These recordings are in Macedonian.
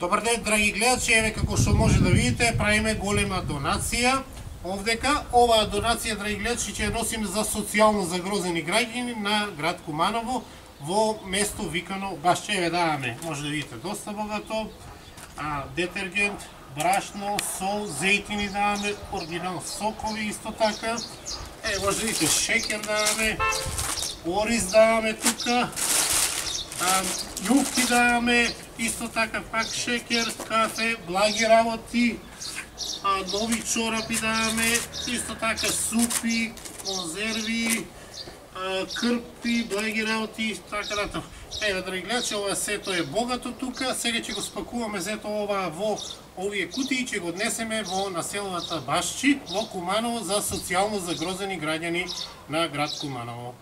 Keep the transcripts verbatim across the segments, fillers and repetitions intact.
Добар ден, драги гледачи, еве како што може да видите, правиме голема донација овдека. Оваа донација, драги гледачи, ќе ја носиме за социјално загрозени граѓани на град Куманово во место викано Башче. Еве даваме, може да видите, доста богато, а, детергент, брашно, сол, зејтини даваме, оригинал сокови исто така. Е, може да видите, шекер даваме, ориз даваме тука, а, јуфки даваме, исто така пак шекер, кафе, благи работи, а, нови чорапи даваме, исто така супи, конзерви, а, крпи, благи работи, исто така натаму. Еве, драги гледачи, ова сето е богато тука. Сега ќе го спакуваме сето ова во овие кутии и ќе го однесеме во населената Башчи, во Куманово, за социјално загрозени граѓани на град Куманово.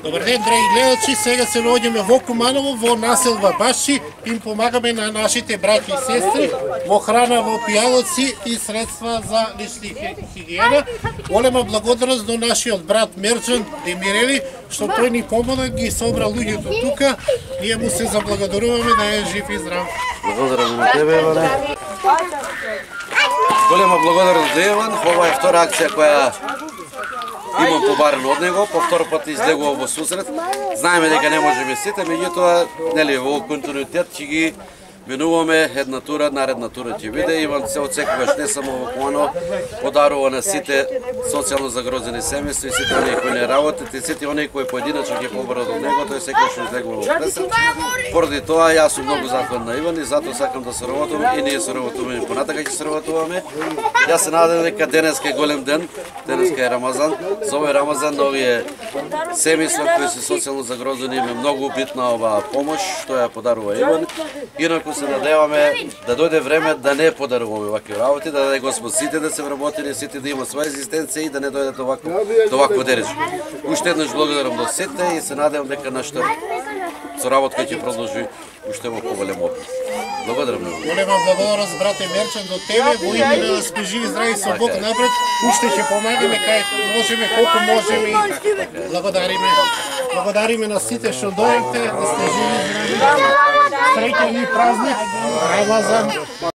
Добар ден, драги гледачи, сега се наоѓаме во Куманово, во населба Башчи, им помагаме на нашите браќи и сестри во храна, во пијалоци и средства за лична хигиена. Голема благодарност до нашиот брат Мерџан Демирели, што тој ни помогна, ги собра луѓето тука. Ние му се заблагодаруваме да е жив и здрав. Благодарам на тебе, Иване. Голема благодарност до Иван. Ова е втора акција која имам побарено од него, по втор пат излегува во сусрет. Знаеме дека не можеме сите, меѓутоа, нели, во континуитет ќе ги менуваме една тура, наредна тура ќе биде. Иван се од секогаш не само во Куманово подарува на сите социјално загрозени семејства и сите оние кои не работат и сите оние кои поединачно ќе побарат од него, тој секогаш излегува во пресет. Поради тоа јас сум многу захвален на Иван и затоа сакам да соработувам и ние соработуваме и понатака ќе соработуваме. Јас се надевам дека денеска е голем ден, денеска е Рамазан. За овој Рамазан на овие семејства кои се социјално загрозени им е многу битна оваа помош што ја подарува Иван. Инаку се надеваме да дојде време да не подаруваме вакви работи, да даде Господ сите да се вработени, сите да има своја екзистенција и да не дојдат овакво до вакво дереж. Уште еднаш благодарам до сите и се надевам дека нашата соработка ќе продолжи уште во поголем опит. Благодарам на вас. Голема благодарност, брате Мерчан, до тебе, во име да сме живи, здрави со Бог напред. Уште ќе помагаме кај можеме, колку можеме и благодариме. Благодариме на сите што дојдете, да сте живи, здрави. Среќен и празник, Рамазан.